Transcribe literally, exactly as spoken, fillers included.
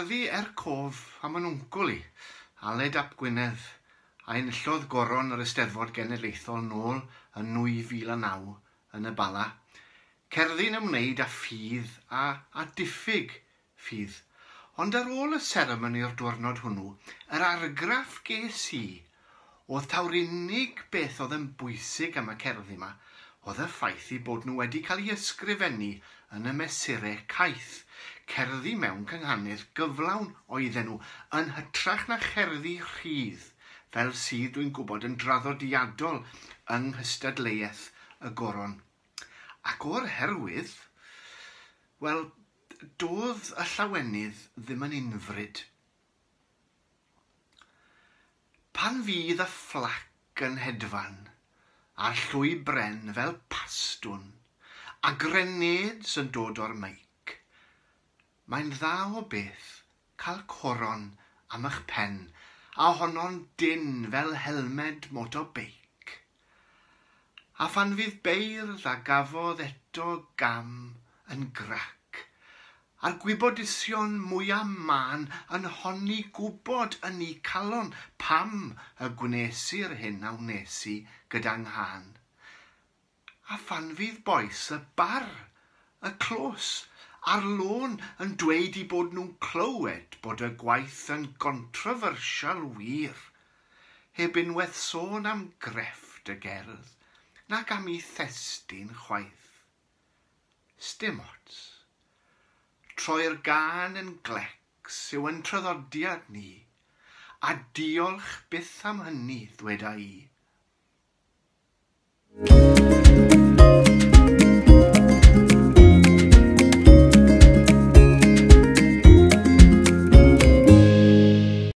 cerddi er cof am yn wncwl i, Aled ap Gwynedd, a enillodd goron yr Eisteddfod Genedlaethol nôl yn nwy fil a naw yn y Bala. Cerddi'n ymwneud â ffydd a, a diffyg ffydd. Ond ar ôl y seremoni'r diwrnod hwnnw, yr argraff ges i oedd taw'r unig beth oedd yn bwysig am y cerddi yma oedd y ffaith eu bod nhw wedi cael eu ysgrifennu yn y mesurau caeth. Cerddi mewn cynghanedd gyflawn oedden nhw, yn hytrach na cherddi rhydd, fel sydd dwi'n gwybod yn draddodiadol yng nghystadleuaeth y goron. Ac o'r herwydd, wel, doedd y llawenydd ddim yn unfryd. Pan fydd y fflac yn hedfan, a'r llwy bren fel pastwn, a grenades yn dod o'r meic, mae'n dda o beth cael coron am eich pen, a honno'n dynn fel helmed motobeic. A phan fydd beirdd a gafodd eto gam yn grac, a'r gwybodusion mwyaf mân yn honni gwybod yn eu calon pam y gwnes i'r hyn a wnes i gyda nghân. A phan fydd bois y bar, y clos, a'r lôn yn dweud eu bod nhw'n clywed bod y gwaith yn controversial wir, heb unwaith sôn am grefft y gerdd, nac am ei thestun chwaith. Sdim ots. Troi'r gân yn glecs yw yn traddodiad ni, a diolch byth am hynny, ddweda i.